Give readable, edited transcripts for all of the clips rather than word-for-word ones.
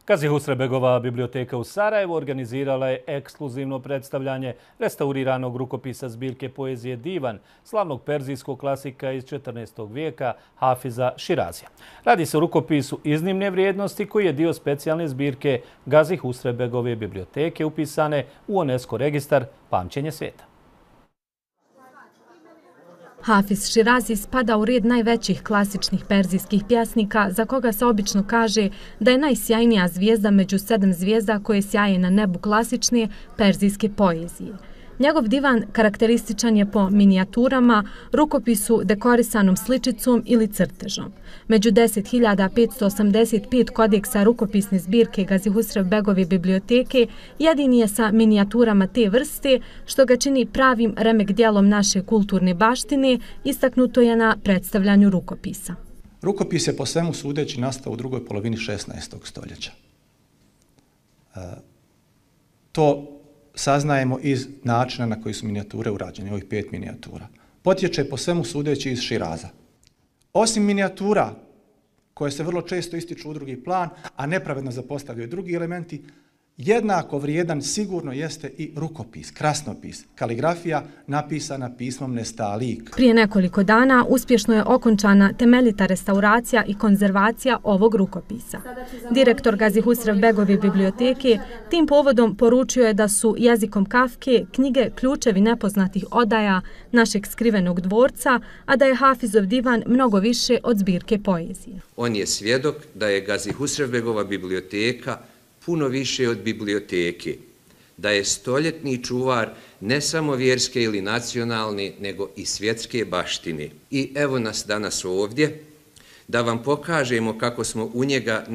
Gazi Husrebegova biblioteka u Sarajevu organizirala je ekskluzivno predstavljanje restauriranog rukopisa zbirke poezije Divan, slavnog perzijskog klasika iz 14. vijeka Hafiza Širazija. Radi se o rukopisu iznimne vrijednosti koji je dio specijalne zbirke Gazi Husrebegove biblioteke upisane u UNESCO registar Pamćenje svijeta. Hafiz Širazi spada u red najvećih klasičnih perzijskih pjesnika za koga se obično kaže da je najsjajnija zvijezda među 7 zvijezda koje sjaje na nebu klasične perzijske poezije. Njegov divan karakterističan je po minijaturama, rukopisu dekorisanom sličicom ili crtežom. Među 10.585 kodeksa rukopisne zbirke Gazi Husrebegove biblioteke jedini je sa minijaturama te vrste, što ga čini pravim remek dijelom naše kulturne baštine, istaknuto je na predstavljanju rukopisa. Rukopis je po svemu sudeći nastao u drugoj polovini 16. stoljeća. To saznajemo iz načina na koji su minijature urađene, ovih 5 minijatura. Potječe po svemu sudeći iz Širaza. Osim minijatura, koje se vrlo često ističu u drugi plan, a nepravedno zapostavljaju drugi elementi, jednako vrijedan sigurno jeste i rukopis, krasnopis, kaligrafija napisana pismom nestalik. Prije nekoliko dana uspješno je okončana temeljita restauracija i konzervacija ovog rukopisa. Direktor Gazi Husrebegove biblioteke tim povodom poručio je da su jezikom Kafke knjige ključevi nepoznatih odaja našeg skrivenog dvorca, a da je Hafizov divan mnogo više od zbirke poezije. On je svjedok da je Gazi Husrebegova biblioteka puno više od biblioteke, da je stoljetni čuvar ne samo vjerske ili nacionalne, nego i svjetske baštine. I evo nas danas ovdje, da vam pokažemo kako smo u njega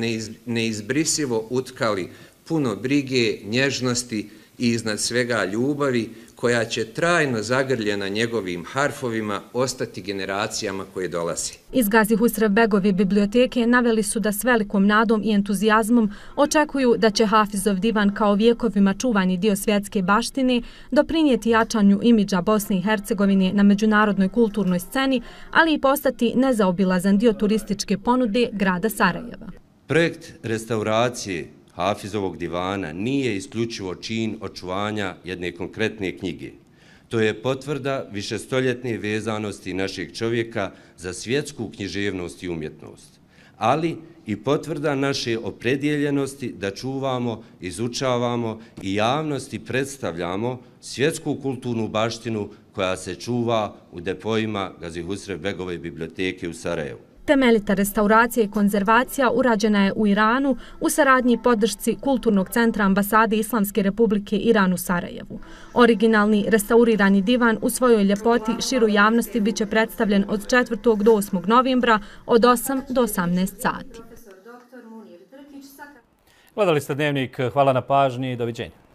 neizbrisivo utkali puno brige, nježnosti i iznad svega ljubavi, koja će trajno zagrljena njegovim harfovima ostati generacijama koje dolaze. Iz Gazi Husrebegove biblioteke naveli su da s velikom nadom i entuzijazmom očekuju da će Hafizov divan kao vjekovima čuvani dio svjetske baštine doprinijeti jačanju imidža Bosne i Hercegovine na međunarodnoj kulturnoj sceni, ali i postati nezaobilazan dio turističke ponude grada Sarajeva. Projekt restauracije Hafizovog divana nije isključivo čin očuvanja jedne konkretne knjige. To je potvrda višestoljetne vezanosti našeg čovjeka za svjetsku književnost i umjetnost, ali i potvrda naše opredjeljenosti da čuvamo, izučavamo i javnosti predstavljamo svjetsku kulturnu baštinu koja se čuva u depoima Gazi Husrebegove biblioteke u Sarajevu. Temeljita restauracija i konzervacija urađena je u Iranu u saradnji i podršci Kulturnog centra ambasade Islamske republike Iran u Sarajevu. Originalni restaurirani divan u svojoj ljepoti širu javnosti biće predstavljen od 4. do 8. novembra od 8 do 18 sati. Gledali ste Dnevnik, hvala na pažnji i doviđenja.